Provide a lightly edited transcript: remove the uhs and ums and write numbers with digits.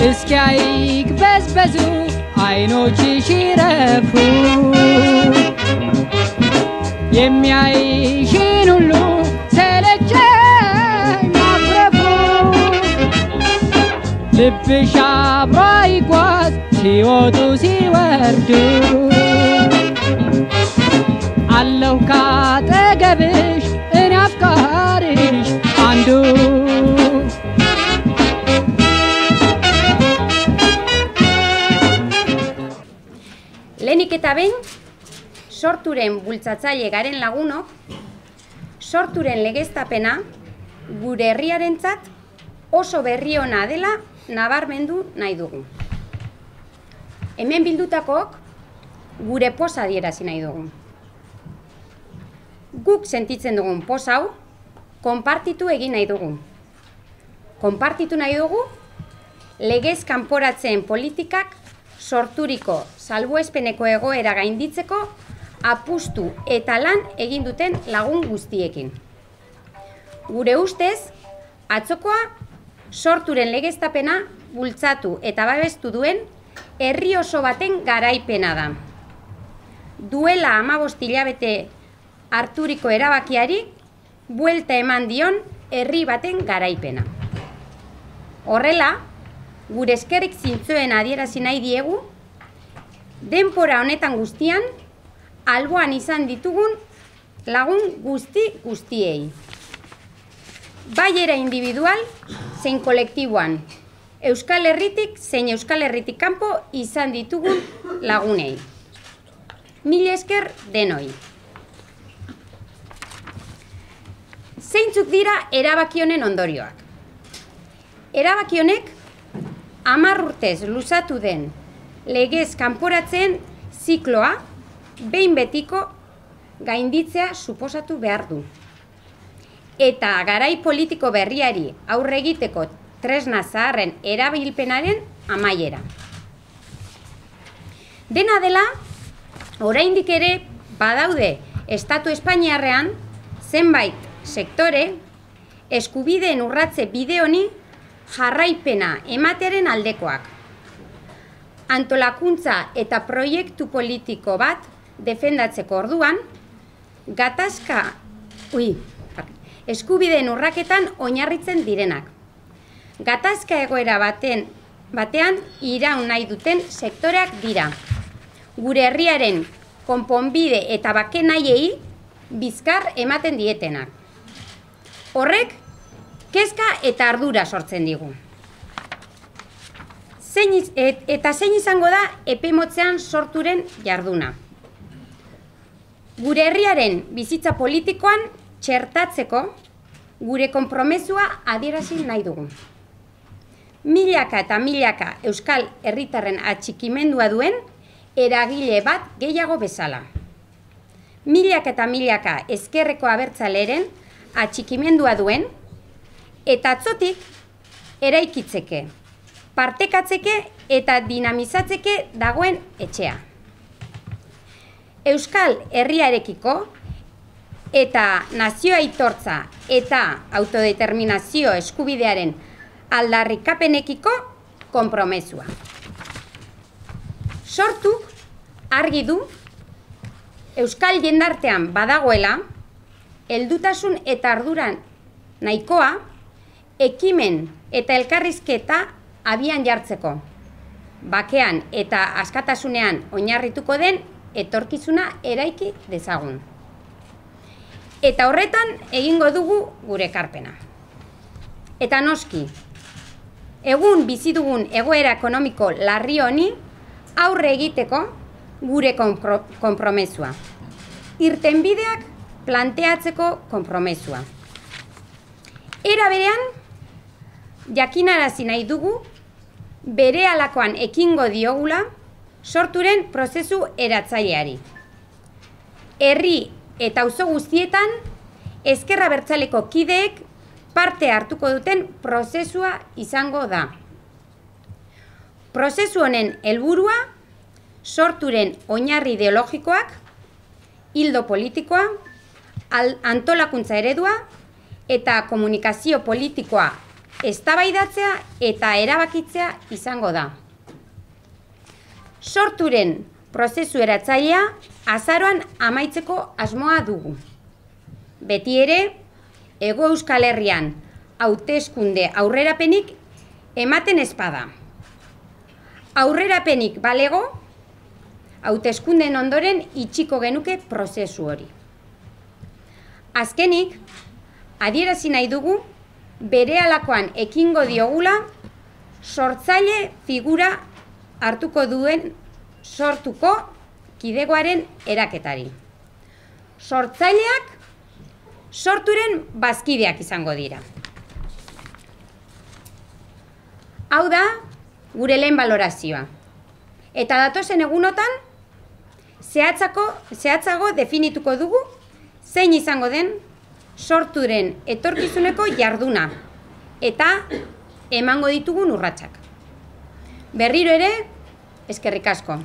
እስኪያይቅበዝበዙ አይኖችሽ ይረፉ የሚያይሽን ሁሉ ሰለቸኝ ማኩረፉ ልብሽ አብሮ ይጓዝ ሲወጡ ሲወርዱ አለሁ ካጠገብሽ እኔ አፍቃሪሽ አንዱ Lehenik eta behin, sorturen bultzatzaile garen lagunok, sorturen legeztapena gure herriarentzat oso berri ona dela nabarmendu nahi dugu. Hemen bildutakok gure poza adierazi nahi dugu. Guk sentitzen dugun poz hau, konpartitu egin nahi dugu. Konpartitu nahi dugu, legez kanporatzen politikak sorturiko salbuespeneko egoera gainditzeko apustu eta lan egin duten lagun guztiekin. Gure ustez, atzokoa sorturen legeztapena bultzatu eta babestu duen herri oso baten garaipena da. Duela 15 hilabete harturiko erabakiari buelta eman dion herri baten garaipena. Horrela, gure eskerrik zintzoen adierazi nahi diegu, denbora honetan guztian, alboan izan ditugun lagun guztiei. Bai era individual, zein kolektiboan, Euskal Herritik zein Euskal Herritik kanpo izan ditugun lagunei. Mila esker denoi. Zeintzuk dira erabaki honen ondorioak? Erabaki honek 10 urtez luzatu den legez kanporatzen zikloa behin betiko gainditzea suposatu behar du. Eta garai politiko berriari aurre egiteko tresna zaharren erabilpenaren amaiera. Dena dela, oraindik ere badaude Estatu Espainiarrean zenbait sektore eskubideen urratze bide honi jarraipena ematearen aldekoak. Antolakuntza eta proiektu politiko bat defendatzeko orduan, eskubideen urraketan oinarritzen direnak. Gatazka egoera batean iraun nahi duten sektoreak dira. Gure herriaren konponbide eta bake nahiei bizkar ematen dietenak. Horrek, kezka eta ardura sortzen digu. Zein izango da epe motzean sorturen jarduna. Gure herriaren bizitza politikoan txertatzeko gure konpromezua adierazi nahi dugu. Milaka eta milaka euskal herritarren atxikimendua duen eragile bat gehiago bezala. Milaka eta milaka ezkerreko abertzaleren atxikimendua duen eta atzotik eraikitzeke, partekatzeke eta dinamizatzeke dagoen etxea. Euskal herriarekiko eta nazio aitortza eta autodeterminazio eskubidearen aldarrikapenekiko konpromezua. Sortuk argi du euskal jendartean badagoela heldutasun eta arduran nahikoa ekimen eta elkarrizketa abian jartzeko, bakean eta askatasunean oinarrituko den etorkizuna eraiki dezagun. Eta horretan egingo dugu gure ekarpena. Eta noski, egun bizi dugun egoera ekonomiko larri honi aurre egiteko gure konpromezua. Irtenbideak planteatzeko konpromezua. Era berean, jakinarazi nahi dugu berehalakoan ekingo diogula sorturen prozesu eratzaileari. Herri eta auzo guztietan ezker abertzaleko kideek parte hartuko duten prozesua izango da. Prozesu honen helburua sorturen oinarri ideologikoak, ildo politikoa, antolakuntza eredua eta komunikazio politikoa eztabaidatzea eta erabakitzea izango da. Sorturen prozesu eratzailea azaroan amaitzeko asmoa dugu. Beti ere, Hego Euskal Herrian hauteskunde aurrerapenik ematen ezpada. Aurrerapenik balego, hauteskundeen ondoren itxiko genuke prozesu hori. Azkenik, adierazi nahi dugu berehalakoan ekingo diogula sortzaile figura hartuko duen sortuko kidegoaren eraketari. Sortzaileak sorturen bazkideak izango dira. Hau da, gure lehen balorazioa. Eta datozen egunotan, zehatzago definituko dugu zein izango den sorturen etorkizuneko jarduna eta emango ditugun urratsak. Berriro ere, eskerrik asko.